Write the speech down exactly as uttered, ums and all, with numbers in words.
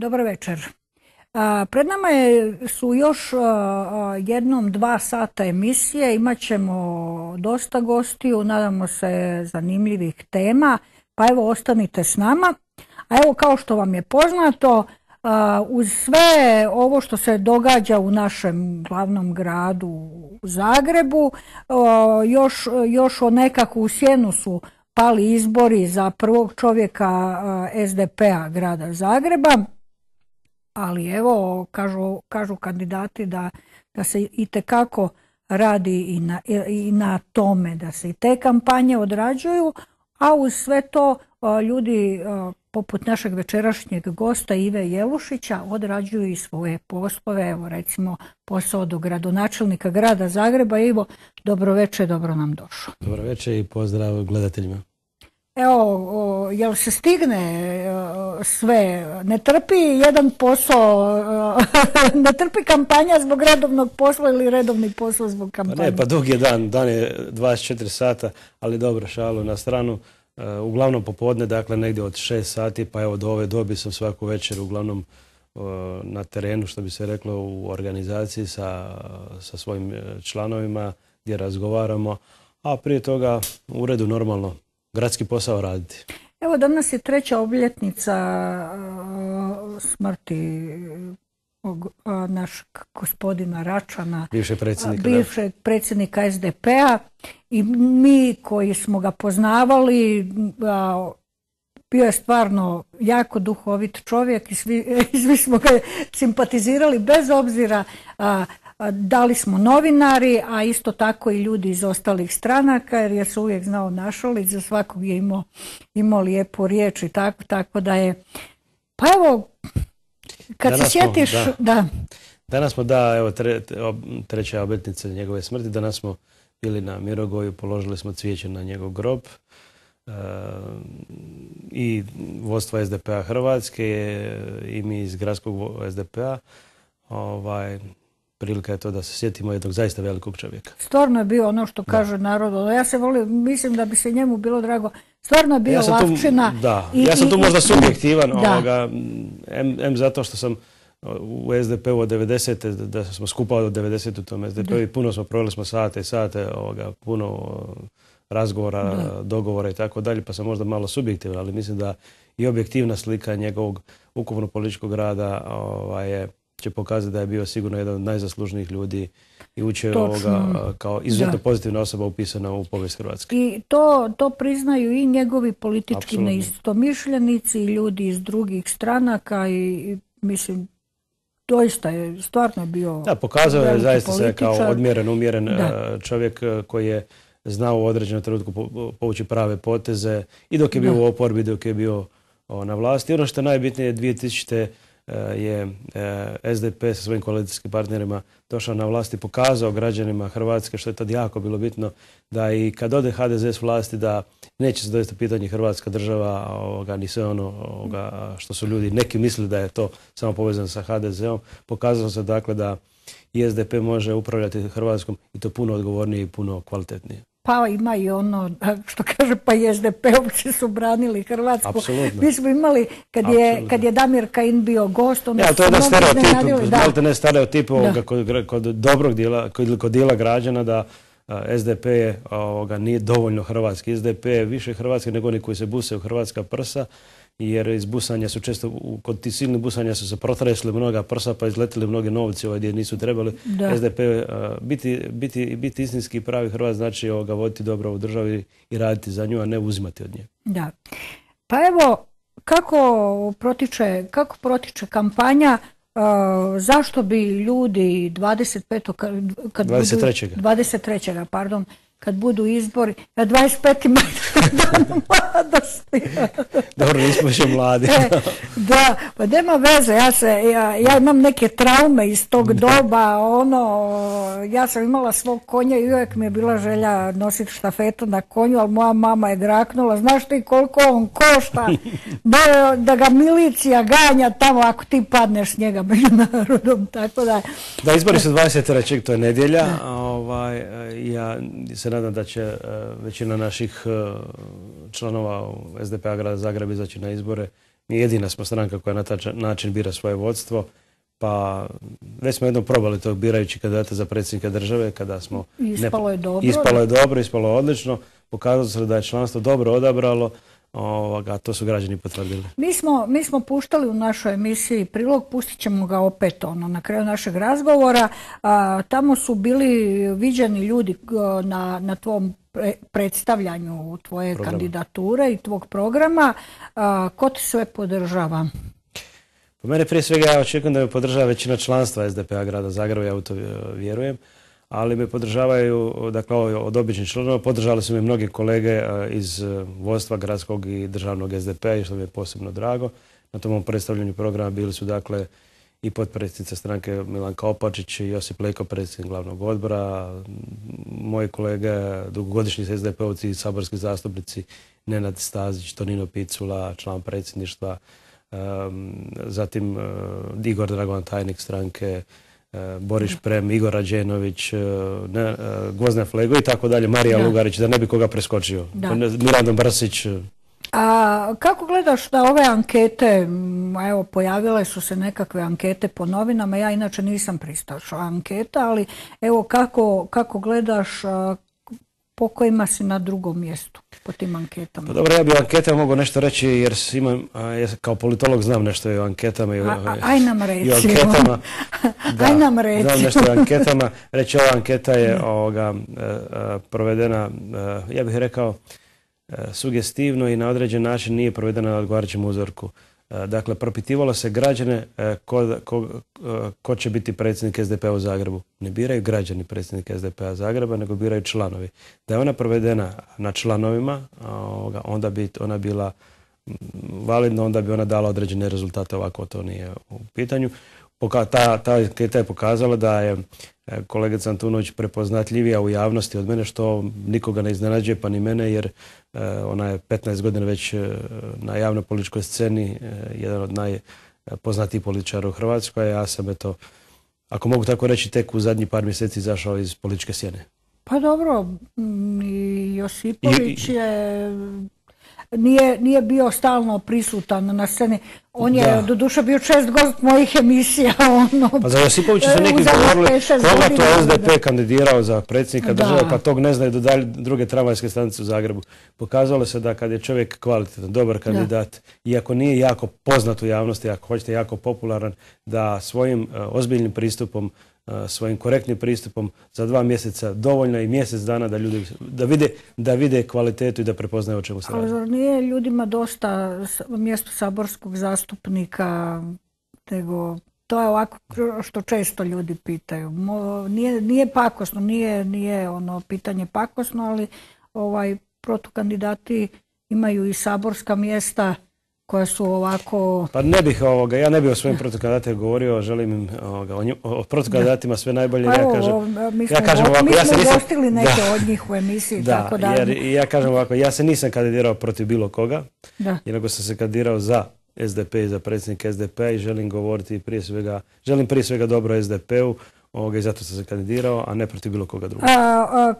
Dobar večer. A, pred nama je, su još a, a, jednom dva sata emisije. Imat ćemo dosta gostiju, nadamo se zanimljivih tema. Pa evo, ostanite s nama. A evo, kao što vam je poznato, a, uz sve ovo što se događa u našem glavnom gradu u Zagrebu, a, još, još o nekakvu sjenu su pali izbori za prvog čovjeka a, es de pe a grada Zagreba. Ali evo, kažu, kažu kandidati da, da se itekako radi i na, i na tome, da se i te kampanje odrađuju, a uz sve to ljudi poput našeg večerašnjeg gosta Ive Jelušića odrađuju i svoje poslove. Evo recimo posao do gradonačelnika grada Zagreba. Ivo, dobro večer, dobro nam došao. Dobro večer i pozdrav gledateljima. Evo, o, jel se stigne o, sve? Ne trpi jedan posao, o, ne trpi kampanja zbog redovnog posla ili redovni posao zbog kampanje? Pa ne, pa dug je dan, dan je dvadeset četiri sata, ali dobro, šalu na stranu. Uh, uglavnom popodne, dakle negdje od šest sati, pa evo do ove dobi sam svaku večer uglavnom uh, na terenu, što bi se reklo, u organizaciji sa, sa svojim članovima gdje razgovaramo, a prije toga u uredu normalno gradski posao raditi. Evo, danas je treća obljetnica uh, smrti uh, našeg gospodina Račana, bivšeg predsjednika, bivšeg predsjednika es de pe a, i mi koji smo ga poznavali, uh, bio je stvarno jako duhovit čovjek i svi, i svi smo ga simpatizirali bez obzira uh, da li smo novinari, a isto tako i ljudi iz ostalih stranaka, jer je se uvijek znao našaliti, za svakog je imao, imao lijepu riječ i tako, tako da je... Pa evo, kad danas se sjetiš... Smo, da. Da. Danas smo, da, evo, tre, treća obljetnica njegove smrti, danas smo bili na Mirogoju, položili smo cvijeće na njegov grob e, i vodstva es de pe a Hrvatske i mi iz gradskog es de pe a, ovaj... Prilika je to da se sjetimo jednog zaista velikog čovjeka. Stvarno je bio ono što kaže narod. Ja se volim, mislim da bi se njemu bilo drago. Stvarno je bio ja lavčina. Tu, da, i, ja sam tu i, možda subjektivan, ovoga, em, em zato što sam u es de pe u od devedesete, da smo skupali od devedesete u tom es de pe u i puno smo proveli smo sate i sate, ovoga, puno razgovora, da. dogovora i tako dalje, pa sam možda malo subjektivan, ali mislim da i objektivna slika njegovog ukupno političkog rada ovaj, je će pokazati da je bio sigurno jedan od najzaslužnijih ljudi i učio ovoga kao izuzetno da. pozitivna osoba upisana u povijest Hrvatske. I to, to priznaju i njegovi politički neistomišljenici i ljudi iz drugih stranaka i, i mislim, doista je, stvarno je bio... Da, pokazao je zaista se kao odmjeren, umjeren da. čovjek koji je znao u određenom trenutku povući prave poteze i dok je bio da. u oporbi, dok je bio o, na vlasti. I ono što je najbitnije, dvije tisućite je es de pe sa svojim koalicijskim partnerima došao na vlast i pokazao građanima Hrvatske, što je tad jako bilo bitno, da i kad ode ha de ze s vlasti da neće se dovesti pitanje Hrvatska država, ovoga, ni sve ono ovoga, što su ljudi neki mislili da je to samo povezano sa ha de zeom. Pokazalo se dakle da i es de pe može upravljati Hrvatskom i to puno odgovornije i puno kvalitetnije. Pa ima i ono, što kaže, pa i es de pe ovdje su branili Hrvatsku. Apsolutno. Mi smo imali, kad je, kad je Damir Kajin bio gost, ono ja, to je jedan stereotip, da. ne stereotip ovoga kod, kod dobrog dijela, kod, kod dijela građana da uh, es de pe je, ovoga, nije dovoljno hrvatski. es de pe je više hrvatski nego oni koji se buse u hrvatska prsa, jer iz busanja su često, kod tih silnih busanja su se protresli mnoga prsa pa izletili mnogi novci ovaj gdje nisu trebali. Da. es de pe, uh, biti, biti, biti istinski pravi Hrvat znači ovoga, voditi dobro u državi i raditi za nju, a ne uzimati od nje. Da. Pa evo, kako protiče, kako protiče kampanja, uh, zašto bi ljudi dvadeset petog kad dvadeset trećeg budu, dvadeset trećeg pardon, kad budu izbori, na dvadeset petom dan mladosti. Dobro, nismo više mladi. Da, pa nema veze, ja, se, ja, ja imam neke traume iz tog doba, ono, ja sam imala svog konja i uvijek mi je bila želja nositi štafetu na konju, ali moja mama je draknula, znaš ti koliko on košta, da, da ga milicija ganja tamo ako ti padneš s njega među narodom, tako da... Da, izbori su dvadeset trećeg to je nedjelja, ovaj, ja se nadam da će većina naših članova es de pe a grada Zagreba izaći na izbore Mi jedina smo stranka koja na taj način bira svoje vodstvo. Pa već smo jednom probali to birajući kandidata za predsjednika države kada smo... Ispalo je dobro. Ispalo je dobro, ispalo je odlično. Pokazalo se da je članstvo dobro odabralo, a to su građani potvrdili. Mi smo, mi smo puštali u našoj emisiji prilog, pustit ćemo ga opet ono, na kraju našeg razgovora. A, tamo su bili viđeni ljudi na, na tvom pre, predstavljanju tvoje programa. Kandidature i tvog programa. A, ko ti sve podržava? Po mene prije svega ja očekujem da me podržava većina članstva S D P-a grada Zagreba, ja u to vjerujem, ali me podržavaju, dakle, od običnih članova, podržali su me mnogi kolege iz vodstva gradskog i državnog S D P-a, što mi je posebno drago. Na tom predstavljanju programa bili su, dakle, i potpredsjednica stranke Milanka Opačić i Josip Leko, predsjednik glavnog odbora, moji kolege, dugogodišnji S D P-ovci i saborski zastupnici Nenad Stazić, Tonino Picula, član predsjedništva, zatim Igor Dragovan, tajnik stranke, Boris Šprem, Igor Rađenović, Gvozden Flego i tako dalje, Marija da. Lugarić, da ne bi koga preskočio, Mirando Brsić. A kako gledaš da ove ankete, evo pojavile su se nekakve ankete po novinama, ja inače nisam pristaša anketa, ali evo kako, kako gledaš po kojima si na drugom mjestu po tim anketama? Pa dobro, ja bi o anketama mogu nešto reći jer imam, ja kao politolog znam nešto i o anketama i o, a, aj nam reci, i o anketama. Da, aj nam reci. Znam nešto o anketama. Reći, ova anketa je ovoga, provedena, ja bih rekao, sugestivno i na određen način nije provedena na odgovarajućem uzorku. Dakle, propitivalo se građane ko, ko, ko će biti predsjednik S D P-a u Zagrebu. Ne biraju građani predsjednika S D P-a Zagreba, nego biraju članovi. Da je ona provedena na članovima, onda bi ona bila validna, onda bi ona dala određene rezultate, ovako to nije u pitanju. Ta, ta anketa je pokazala da je kolegica Antunović prepoznatljivija u javnosti od mene, što nikoga ne iznenađuje, pa ni mene, jer ona je petnaest godina već na javnoj političkoj sceni, jedan od najpoznatijih političara u Hrvatskoj, a ja sam, eto, ako mogu tako reći, tek u zadnjih par mjeseci izašao iz političke sjene. Pa dobro, i Josipović je... Nije, nije bio stalno prisutan na sceni. On je, da. doduše, bio čest gost mojih emisija. Ono, pa za Josipovića su neki govorili koga to S D P kandidirao za predsjednika države, pa tog ne znaju do dalje druge tramvajske stanice u Zagrebu. Pokazalo se da kad je čovjek kvalitetan, dobar kandidat, da. iako nije jako poznat u javnosti, ako hoćete jako popularan, da svojim uh, ozbiljnim pristupom, uh, svojim korektnim pristupom za dva mjeseca dovoljno i mjesec dana da ljudi da vide, da vide kvalitetu i da prepoznaju o čemu se radi. Ali nije ljudima dosta mjesto saborskog zastupnika, nego to je ovako što često ljudi pitaju. Nije, nije pakosno, nije, nije ono pitanje pakosno, ali ovaj protukandidati imaju i saborska mjesta koja su ovako... Pa ne bih ovoga, ja ne bih o svojim protukandidatima govorio, želim im ovoga, o, o protukandidatima sve najbolje. Pa ja evo, kažem, mi smo, ja kažem ovako, mi ja se nisam, gostili neke da, od njih u emisiji, da, tako da... Jer, ja kažem ovako, ja se nisam kandidirao protiv bilo koga, da. nego sam se kandidirao za S D P i za predsjednika S D P-a i želim govoriti prije svega, želim prije svega dobro S D P-u, ovoga, i zato sam se kandidirao, a ne protiv bilo koga druga. A, a,